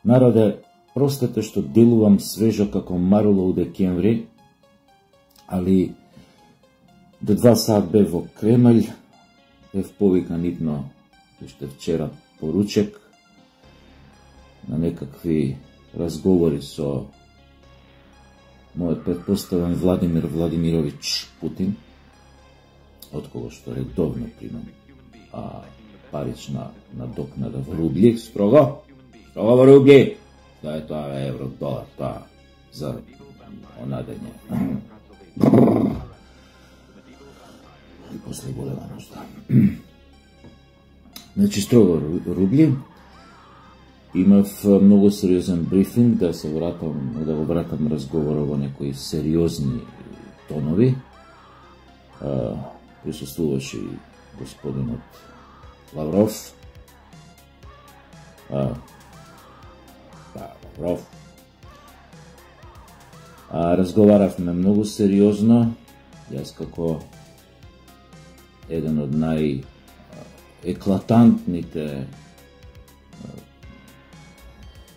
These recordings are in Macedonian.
Народе, простете што делувам свежо како марула у декември, али до 2 саат бев во Кремљ, бев повикан идно уште вчера по ручек на некакви разговори со мојот претпоставен Владимир Владимирович Путин, од кого што редовно примам парична надокнада во рубли, строго во рубли, да е тоа евро, долар, тоа за онадење. И после голема нужда. Значи, строго рубли. Имав многу сериозен брифинг да го вратам разговорот во некои сериозни тонови. Присуствуваше и господинот Лавров. Лавров. Разговаравме многу сериозно. Јас како еден од најеклатантните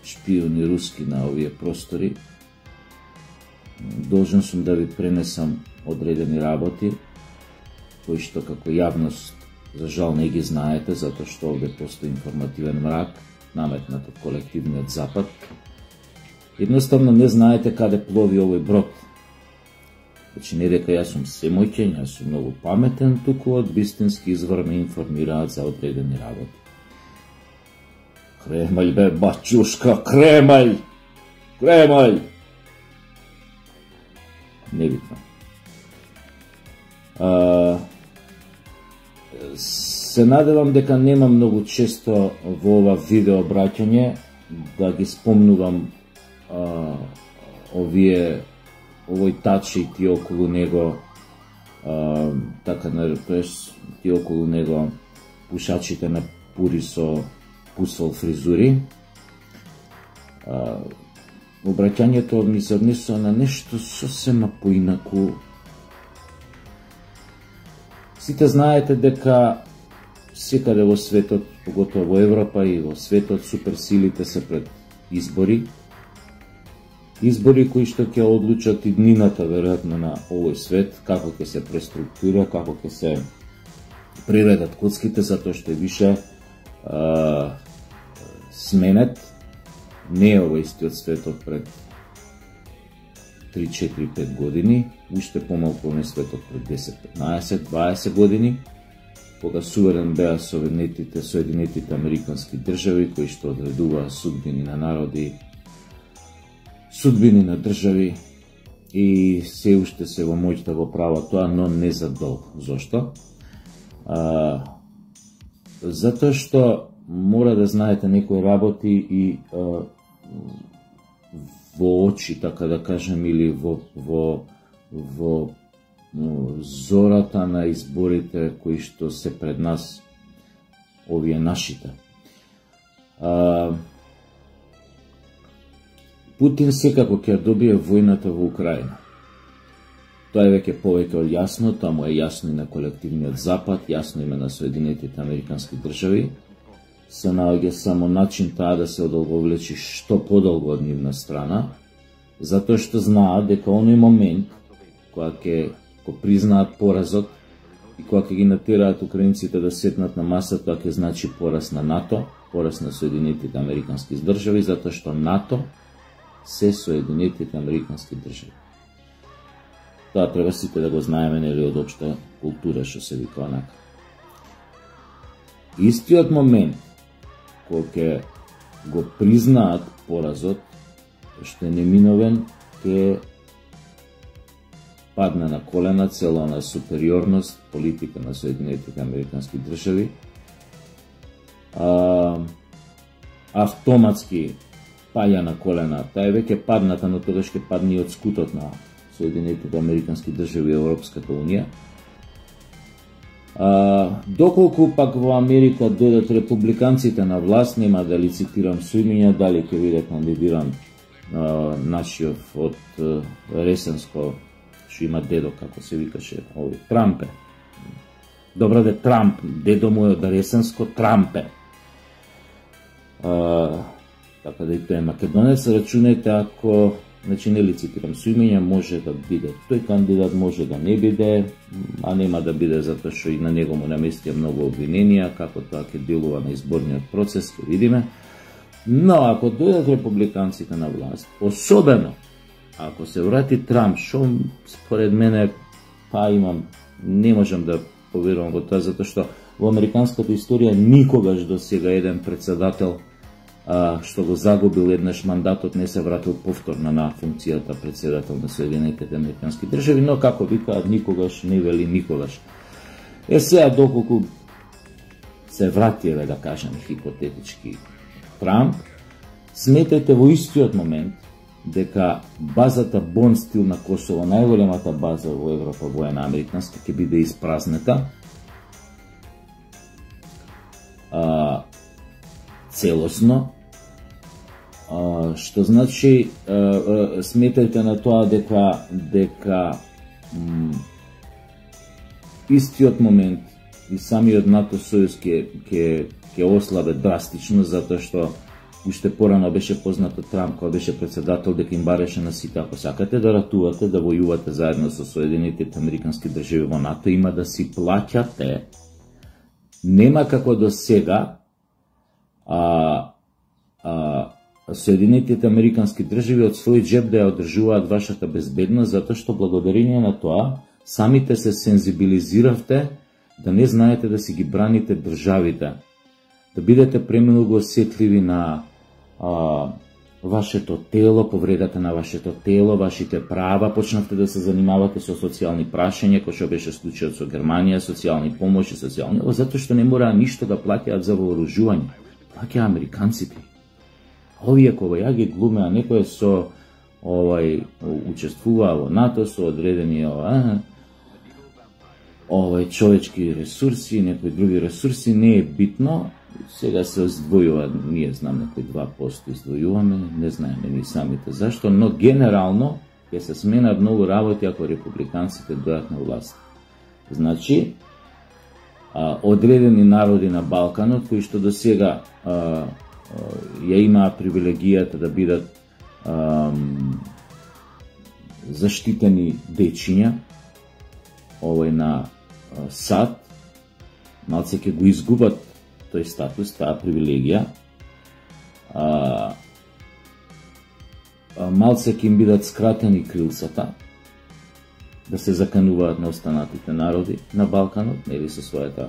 шпиони руски на овие простори, должен сум да ви пренесам одредени работи, кои што како јавност за жал не ги знаете, затоа што овде постои информативен мрак, наметнат од колективниот Запад. Едноставно не знаете каде плови овој брод. Значи не дека јас сум семоќен, јас сум многу паметен, туку од вистински извор ме информираат за одредени работи. Кремљ бе, бачушка, Кремљ! Кремљ! Небитно. Се надевам дека нема многу често во ова видео обраќање да ги спомнувам овој тач и ти околу него, така тоест ти околу него пушачите на пури со пусол фризури. Обраќањето ми се однесува на нешто сосема поинаку. Сите знаете дека секаде во светот, поготово во Европа и во светот, суперсилите се пред избори. Избори кои што ќе одлучат и днината, веројатно, на овој свет, како ќе се преструктура, како ќе се приредат коцките, затоа што више сменет. Не е ова истиот светот пред 3, 4, 5 години, уште помалку не светот пред 10, 15, 20 години, кога суверен беа Соединетите Американски држави, кои што одредуваа судбини на народи, судбини на држави, и се уште се во моќ да го прават тоа, но не за долго. Зошто? Затоа што мора да знаете некои работи и во очи, така да кажем, или во зората на изборите кои што се пред нас, овие нашите. Путин секако ќе добие војната во Украина. Тоа е веќе повеќе од јасно, тоа му е јасно и на колективниот Запад, јасно име на Соединетите Американски држави. Се наоѓа само начин таа да се одолговлечи што подолго од нивна страна, затоа што знаат дека оној момент кога ќе признаат поразот и кога ќе ги натераат украинците да седнат на масата, тоа ќе значи пораз на НАТО, пораз на Соединетите Американски држави, затоа што НАТО се Соединетите Американски држави. Тоа треба сите да го знаеме, нели, од општа култура, што се вика онака. Истиот момент кога ќе го признаат поразот, што е неминовен, ќе падне на колена цела на супериорност политика на Соединетите Американски држави. Автоматски паѓа на колена, таа е веќе падната, но тогаш ќе падне и од скутот на Соединетите Американски држави и Европската унија. Доколку пак во Америка дојдат републиканците на власт, нема да лицитирам со имиња, дали ќе биде кандидиран нашиот од Ресенско, што има дедо, како се викаше, овој Трампе. Добро де Трамп, дедо му е од Ресенско, Трампе. Така да и тој е македонец, рачунете ако, значи не лицитирам со имиња, може да биде тој кандидат, може да не биде, а нема да биде затоа што и на него му наместија многу обвиненија, како тоа ќе делува на изборниот процес, ќе видиме. Но ако дојдат републиканците на власт, особено ако се врати Трамп, што според мене не можам да поверувам во тоа, затоа што во американската историја никогаш до сега еден председател што го загубил еднаш мандатот не се вратил повторно на функцијата председател на Соединетите Американски држави, но како викаат никогаш не вели никогаш. Сега доколку се врати, да кажем хипотетички Трамп, сметајте во истиот момент дека базата Бон Стил на Косово, најголемата база во Европа, воена американска, ќе биде испразнета целосно, што значи сметајте на тоа дека истиот момент и самиот НАТО сојуз ќе ослабе драстично, затоа што уште порано беше познато Трамп, кога беше председател, дека им бареше на сите, ако сакате да ратувате, да војувате заедно со Соединетите Американски држави во НАТО, има да си плаќате. Нема како до сега Соединетите Американски држави од свој джеб да ја одржуваат вашата безбедност, затоа што благодарение на тоа самите се сензибилизиравте да не знаете да си ги браните државите, да бидете премногу осетливи на вашето тело, повредата на вашето тело, вашите права, почнавте да се занимавате со социјални прашања, кој што беше случајот со Германија, социјални помоши, затоа што не мора ништо да плаќаат за вооружување, плаќаат американците. Овие кога ја ги глумеа некој со учествуваа во НАТО со одредени човечки ресурси, некои други ресурси, не е битно. Сега се издвојува, ние знам некои 2% издвојуваме, не знаеме ни самите зашто, но генерално ќе се сменат многу работи ако републиканците дојдат на власт. Значи, одредени народи на Балканот, кои што до сега ја имаа привилегијата да бидат заштитени дечиња, на САД, малце ќе го изгубат тој статус, таа привилегија, малце ќе им бидат скратени крилцата, да се закануваат на останатите народи на Балканот, нели со својата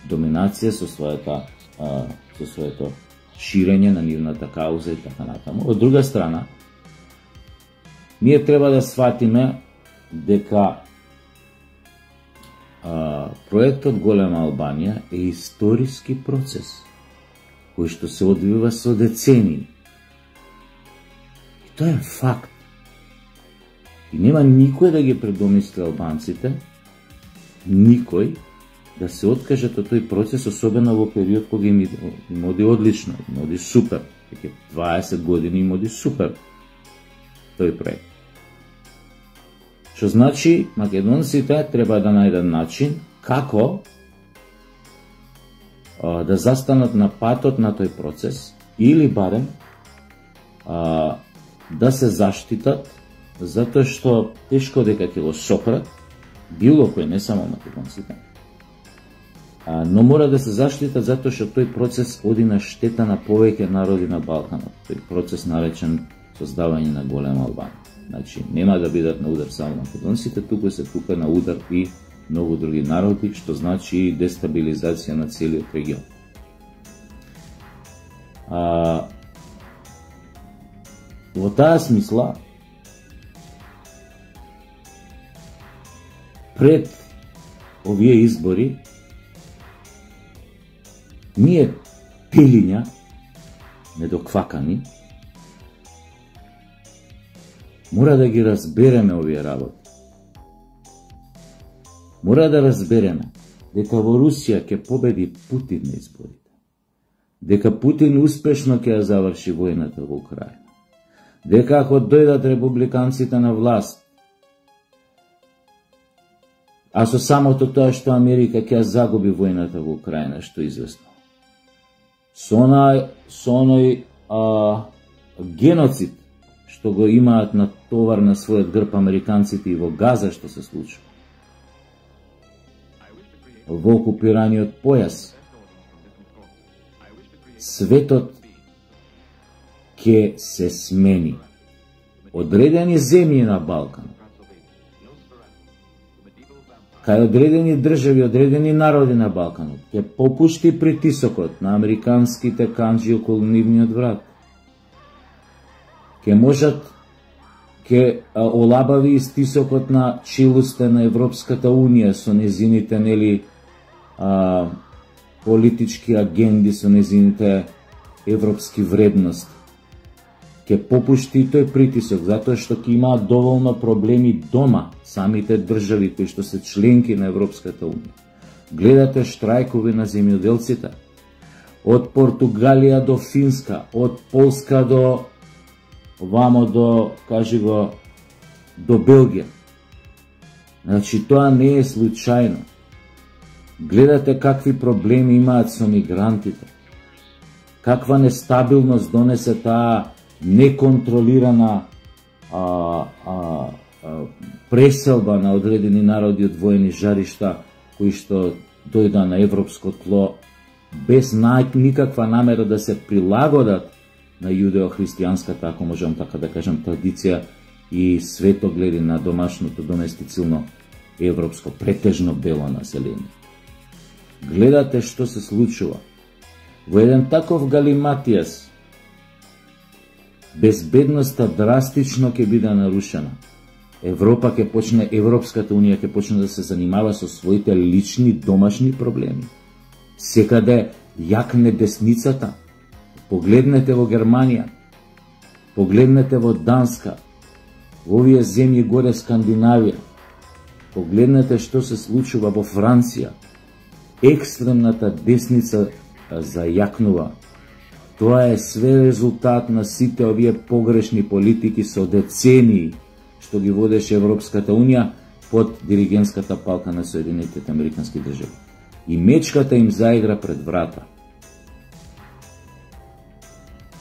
доминација, со своето ширење на нивната кауза и така натаму. Од друга страна, ние треба да сватиме дека проектот Голема Албанија е историски процес кој што се одвива со децении. И тоа е факт. И нема никој да ги предомисли албанците, никој да се откажат од тој процес, особено во период кога им оди одлично, им оди супер. Веќе 20 години им оди супер тој проект. Што значи, македонците треба да најдат начин како да застанат на патот на тој процес или барем да се заштитат, затоа што тешко дека ќе го сопрат било кој, не само македонците, но мора да се заштитат затоа што тој процес оди на штета на повеќе народи на Балканот. Тој процес наречен создавање на Голема Албанија. Значи, нема да бидат на удар само македонците, туку се тука на удар и многу други народи, што значи и дестабилизација на целиот регион. Во таа смисла, пред овие избори, ние пилиња, недоквакани, Мора да ги разбереме овие работи. Мора да разбереме дека во Русија ќе победи Путин на изборите. Дека Путин успешно ќе ја заврши војната во Украина. Дека ако дојдат републиканците на власт, а со самото тоа што Америка ќе загуби војната во Украина, што е известно. Со оној геноцид што го имаат на товар на својот грб американците и во Газа што се случува. Во окупираниот појас, светот ќе се смени. Одредени земји на Балкан, кај одредени држави, одредени народи на Балканот, ќе попушти притисокот на американските канџи околу нивниот врат. Ќе можат, ќе олабави и стисокот на челусте на Европската Унија со незините, нели, политички агенди, со незините европски вредности. Ќе попушти тој притисок, затоа што ќе имаат доволно проблеми дома, самите држави кои што се членки на Европската Унија. Гледате штрајкови на земјоделците, од Португалија до Финска, од Полска до вамо до, кажи го, до Белгија. Значи, тоа не е случајно. Гледате какви проблеми имаат со мигрантите. Каква нестабилност донесе таа неконтролирана преселба на одредени народи од воени жаришта кои што дојда на европско тло без никаква намера да се прилагодат на јудео-христијанската, ако можам така да кажам, традиција и светогледи на домашното доместицилно европско претежно бело население. Гледате што се случува. Во еден таков галиматијас безбедноста драстично ќе биде нарушена. Европската Унија ќе почне да се занимава со своите лични домашни проблеми. Секаде јакне десницата. Погледнете во Германија, погледнете во Данска, во овие земји горе Скандинавија. Погледнете што се случува во Франција. Екстремната десница зајакнува. Тоа е све резултат на сите овие погрешни политики со децении што ги водеше Европската Унија под диригентската палка на Соединетите Американски држави. И мечката им заигра пред врата.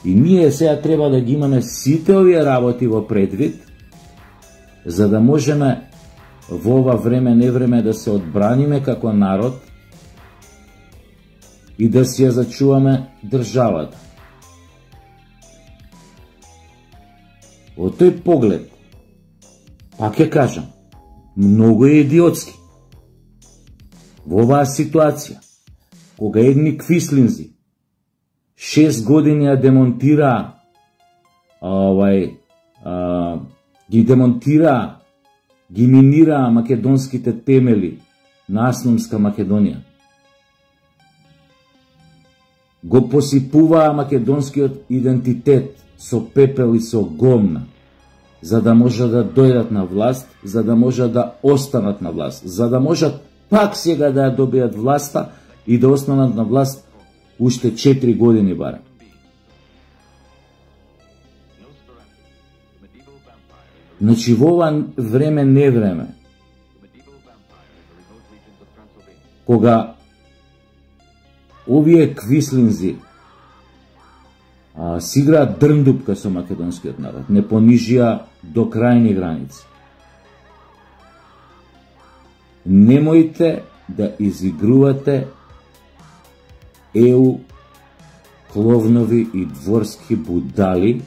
И ние сега треба да ги имаме сите овие работи во предвид, за да можеме во ова време невреме да се одбраниме како народ и да си ја зачуваме државата. Во тој поглед, пак ќе кажам, многу е идиотски. Во оваа ситуација, кога едни квислинзи 6 години ја демонтираа ги минираа македонските темели на Асномска Македонија. Го посипуваа македонскиот идентитет со пепел и со гомна, за да може да дојдат на власт, за да може да останат на власт, за да можат пак сега да ја добијат власта и да останат на власт уште 4 години барем. Значи во ова време не време, кога овие квислинзи си играат дрндупка со македонскиот народ, не понижија до крајни граници. Немојте да изигрувате еу кловнови и дворски будали,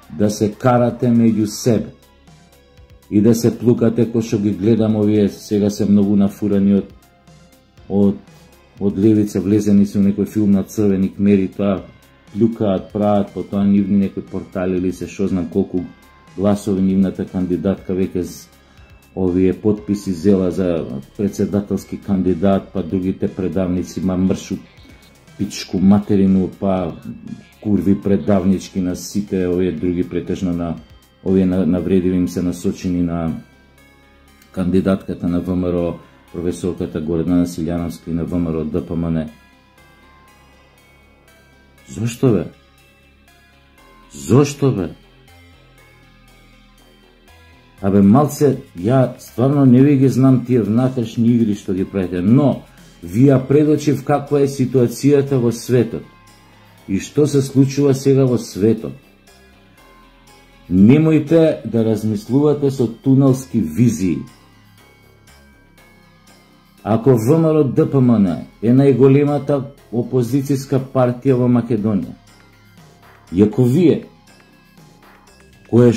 да се карате меѓу себе и да се плукате, кој што ги гледам овие сега се многу нафурани од левица, влезени се во некој филм на Црвени кмери, тоа плюкаат, прават, потоа нивни некои портали или се шо знам колку гласови нивната кандидатка веќе овие подписи зела за председателски кандидат, па другите предавници ма мршу пичку материну, па курви предавнички на сите овие други, претежно на овие навредиви им се насочени на кандидатката на ВМРО, професорката Гордана Силјановска и на ВМРО ДПМН. Зошто бе? Зошто бе? Абе малце, ја стварно не ви ги знам тие внатрешни игри што ги правите, но ви ја предочив каква е ситуацијата во светот и што се случува сега во светот. Немојте да размислувате со тунелски визии. Ако ВМРО ДПМН е најголемата опозицијска партија во Македонија, и ако вие, која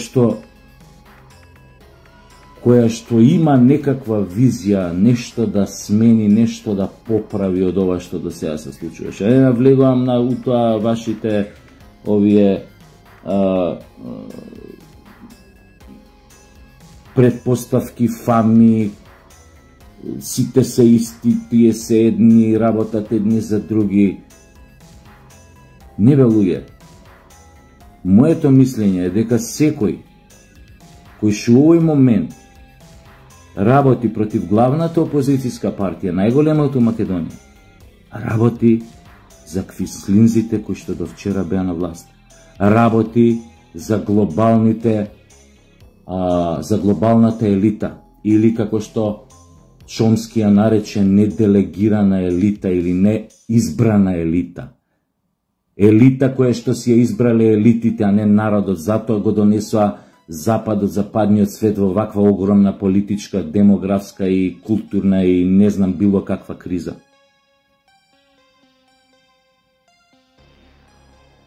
што има некаква визија, нешто да смени, нешто да поправи од ова што до сега се случуваше. Не навлегувам на утоа вашите овие предпоставки, фами, сите се исти, тие се едни, работат едни за други. Не бе луѓе. Моето мислење е дека секој кој што во овој момент работи против главната опозицијска партија, најголемата во Македонија, работи за квислинзите кои што до вчера беа на власт. Работи за за глобалната елита, или како што Чомски ја нарече неделегирана елита или неизбрана елита. Елита која што си ја избрале елитите, а не народот, затоа го донесоа Западот, западниот свет во ваква огромна политичка, демографска и културна и не знам било каква криза.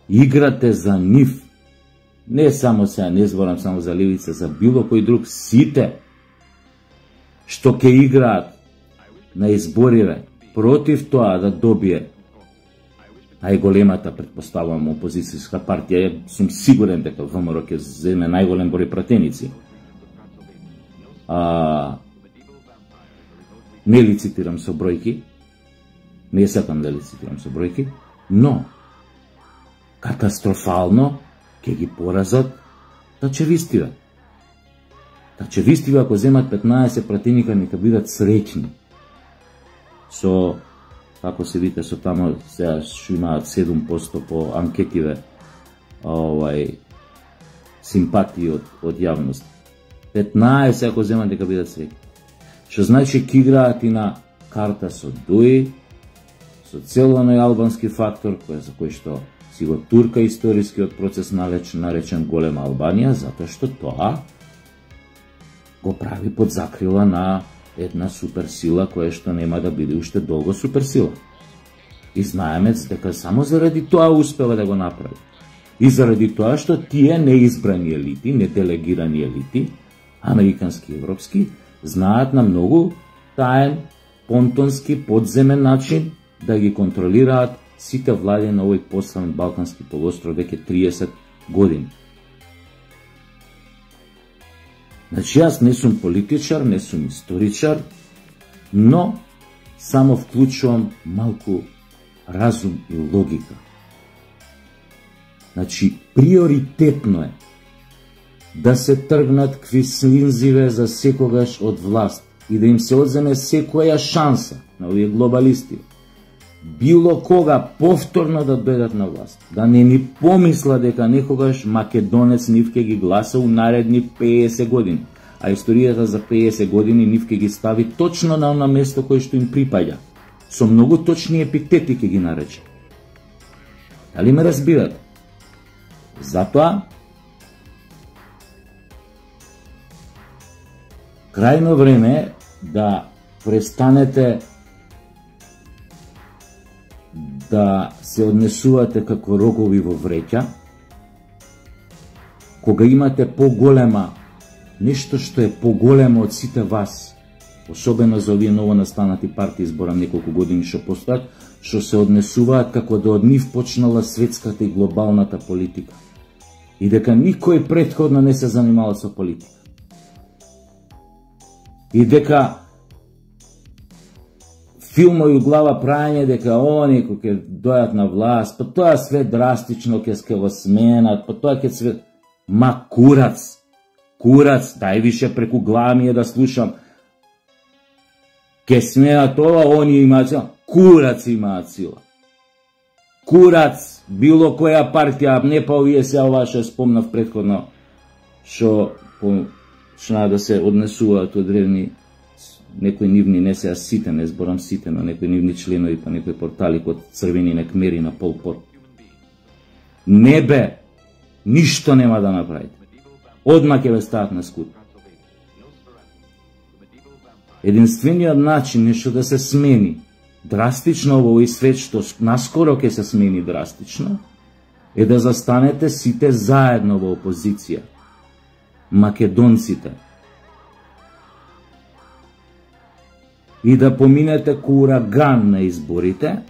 Играте за нив. Не само сега, не зборам само за левица, за било кој друг, сите што ќе играат на избориве против тоа да добие најголемата, предпоставувам, опозицијска партија, сум сигурен дека ВМРО ќе земе најголем број пратеници. Не лицитирам со бројки, не сакам да лицитирам со бројки, но катастрофално ќе ги поразат тачевистиве. Тачевистиве, ако земат 15 пратеника, нека бидат среќни. Со, како се вика, со тамо сега што имаат 7% по анкетиве симпатии од јавност. 15 ако земат, нека бидат среќни. Што значи ќе играат и на карта со ДУИ, со целоној албански фактор, за кој што си го турка историскиот процес наречен Голема Албанија, затоа што тоа го прави под закрила на една суперсила која што нема да биде уште долго суперсила. И знаеме дека само заради тоа успела да го направи. И заради тоа што тие неизбрани елити, неделегирани елити, американски и европски, знаат на многу таен, понтонски, подземен начин да ги контролираат сите влади на овој пославен Балкански полуостров веќе 30 години. Значи, јас не сум политичар, не сум историчар, но само вклучувам малку разум и логика. Значи, приоритетно е да се тргнат квислинзиве за секогаш од власт и да им се одземе секоја шанса на овие глобалисти, било кога повторно да дојдат на власт, да не ни помисла дека некогаш македонец нив ќе ги гласа у наредни 50 години, а историјата за 50 години нив ќе ги стави точно на оно место кое што им припаѓа, со многу точни епитети ќе ги нарече. Дали ме разбирате? Затоа крајно време е да престанете да се однесувате како рогови во вреќа, кога имате поголема, нешто што е поголемо од сите вас, особено за овие ново настанати партии, зборам неколку години што постојат, што се однесуваат како да од нив почнала светската и глобалната политика. И дека никој претходно не се занимавал со политика. И дека филмови у глава прајање дека они кои ќе дојат на власт, па тоа све драстично ќе го сменат, па тоа ќе све... Ма курац, Курац, дај више преку глава ми е да слушам. Ке смеат ова, они имаат сила. Курац имаат сила. Курац, било која партија, не па овие се ова што спомнав претходно, што да се однесуваат од древни некои нивни, не се сите, не зборам сите, но некои нивни членови па некои портали код црвени некмери на Пол Пот. Не бе, ништо нема да направите. Одма ќе ве стават на скут. Единствениот начин е што да се смени драстично во овој свет, што наскоро ќе се смени драстично, е да застанете сите заедно во опозиција. Македонците. И да поминете ко ураган на изборите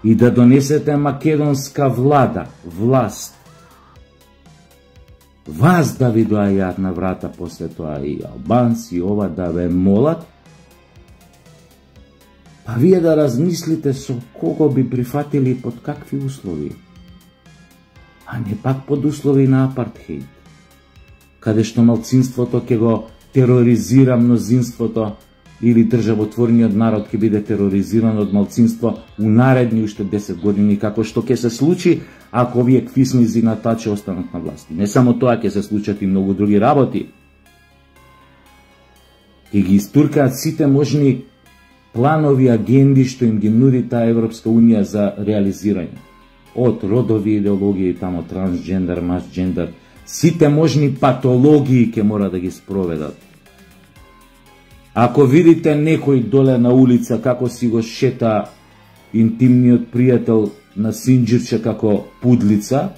и да донесете македонска власт. Вас да ви доаѓаат на врата после тоа и албанци, и ова да ве молат, па вие да размислите со кого би прифатили и под какви услови. А не пак под услови на апартхеид, каде што малцинството ќе го тероризира мнозинството или државотворниот народ ќе биде тероризиран од малцинство у наредни уште 10 години, како што ќе се случи ако овие квисни зинатачи останат на власти. Не само тоа, ќе се случат и многу други работи. Ќе ги истуркаат сите можни планови, агенди што им ги нуди таа Европска Унија за реализирање. Од родови идеологии, тамо трансджендер, масджендер, сите можни патологии ќе мора да ги спроведат. Ако видите некој доле на улица како си го шета интимниот пријател на Синџирче како пудлица,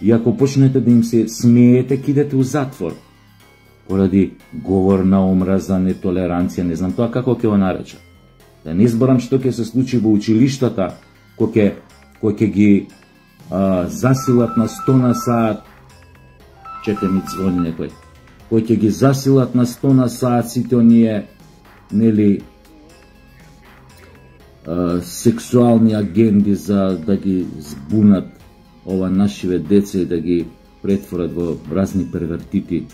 и ако почнете да им се смеете, кидете у затвор. Поради говор на омраза, нетолеранција, не знам тоа како ќе го нареча. Да не зборам што ќе се случи во училиштата, кој ќе ги засилат на 100 на саат, чете ми звони некој, кој ќе ги засилат на 100 на саат сите оние, нели, сексуални агенди за да ги збунат ова нашиве деца и да ги претворат во разни первертити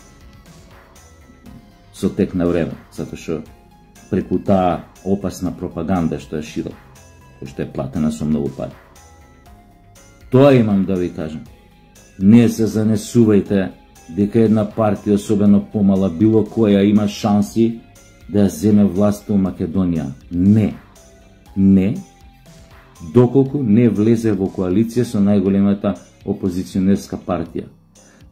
со тек на време, затоа што преку таа опасна пропаганда што ја шират, која што е платена со многу пари. Тоа имам да ви кажам. Не се занесувајте дека една партија, особено помала, било која, има шанси да ја земе власта у Македонија. Не, доколку не влезе во коалиција со најголемата опозиционерска партија.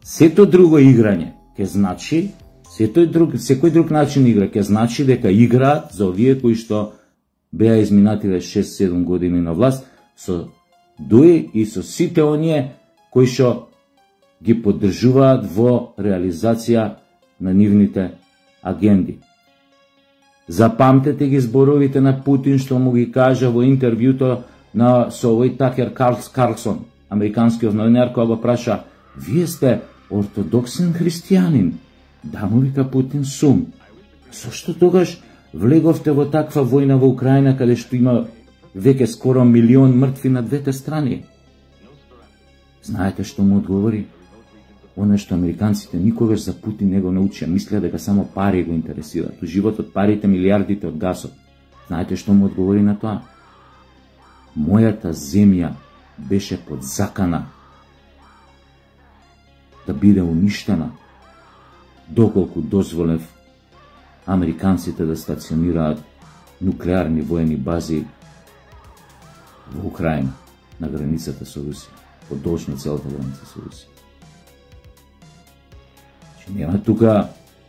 Сето друго играње ќе значи, секој друг начин игра ќе значи дека играат за овие кои што беа изминативе 6-7 години на власт, со дуи и со сите оние кои што ги поддржуваат во реализација на нивните агенди. Запамтете ги зборовите на Путин што му ги кажа во интервјуто со овој Такер Карлсон, американскиот новинар, кој го праша: "Вие сте ортодоксен христијанин?" "Да," му вика Путин, "сум." "Зошто тогаш влеговте во таква војна во Украина, каде што има веќе скоро 1 милион мртви на двете страни?" Знаете што му одговори? Оно што американците никогаш за Путин не го научија, мислеа дека само пари го интересираат. У животот парите, милиардите од гасот. Знаете што му одговори на тоа? "Мојата земја беше под закана да биде уништена, доколку дозволев американците да стационираат нуклеарни воени бази во Украина, на границата со Русија, подолжно целата граница со Русија." Нема тука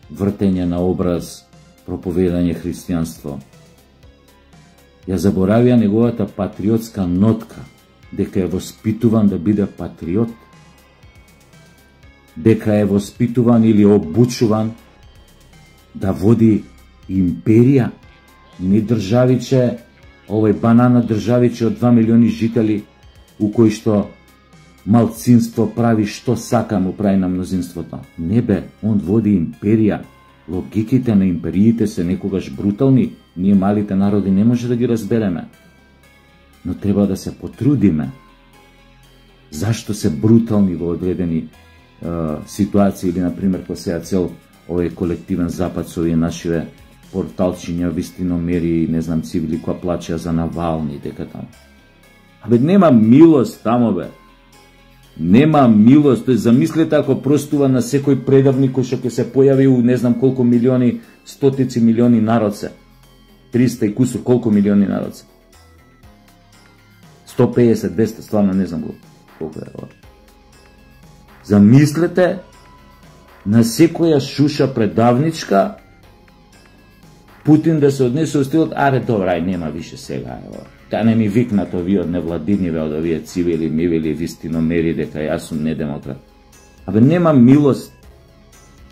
вртење на образ, проповедање христијанство. Ја заборавија неговата патриотска нотка, дека е воспитуван да биде патриот, дека е воспитуван или обучуван да води империја, не државиче, овој банана државиче од 2 милиони жители, у кој што малцинство прави што сака, му прави на мнозинството. Не бе, он води империја. Логиките на империите се некогаш брутални, ние малите народи не може да ги разбереме. Но треба да се потрудиме. Зашто се брутални во одредени ситуација или, например, кој сега цел овој колективен запад со овие нашиве порталчиња, вистиномери, не знам, цивили која плачеа за Навални, дека таму. Абе, нема милост таму, бе. Нема милост. Тој замислете ако простува на секој предавник кој што ќе се појави у не знам колку милиони, стотици милиони народ се. 300 и кусур, колку милиони народ се. 150, 200, стварно не знам колку е ова. Замислете на секоја шуша предавничка Путин да се однесе во стилот, аре добра, ај нема више сега, ево. Та не ми викнат овие од невладиниве, од овие цивили, мивили, вистиномери, дека јас сум недемократ. Абе нема милост.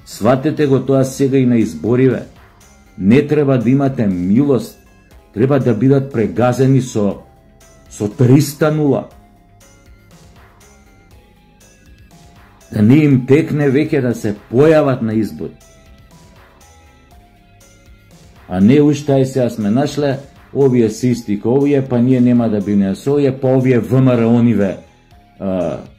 Сватете го тоа сега и на избориве. Не треба да имате милост. Треба да бидат прегазени со 300-0. Да не им текне веќе да се појават на избори. А не уште ај сега сме нашле, овие се исти ко овие, па ние нема да биме со овие, па овие ВМРО-ниве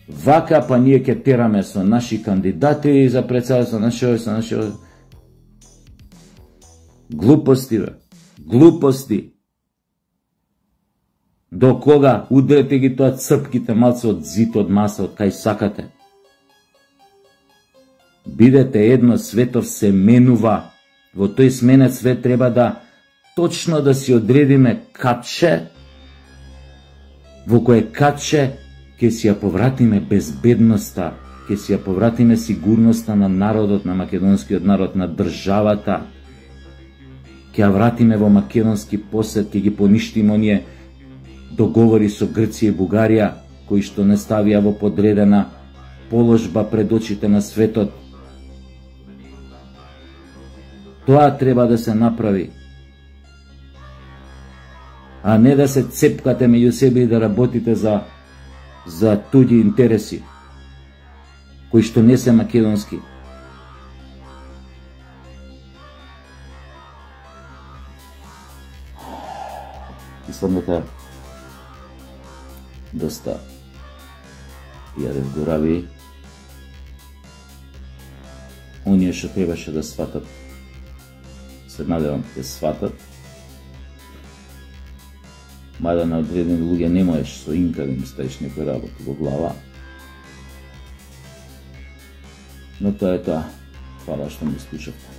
вака, па ние ќе тераме со наши кандидати за председател, со наши глупости, бе. Глупости. До кога? Удрете ги тоа црпките малце од зид, од маса, од кај сакате. Бидете едно, светов се менува. Во тој сменет свет треба да точно да си одредиме катче, во кое катче ќе си ја повратиме безбедноста, ќе си ја повратиме сигурноста на народот, на македонскиот народ, на државата. Ќе ја вратиме во македонски посет, ќе ги поништиме оние договори со Грција и Бугарија, кои што не ставија во подредена положба пред очите на светот. Тоа треба да се направи. А не да се цепкате меѓу себе и да работите за туѓи интереси, кои што не се македонски. Исламата доста јадев горави. Оние што требаше да сватат, се надевам ќе сватат. Мада на одредени луѓе не можеш со инка да им ставиш некој работа во глава. Но тоа е тоа. Фала што ме слушавте.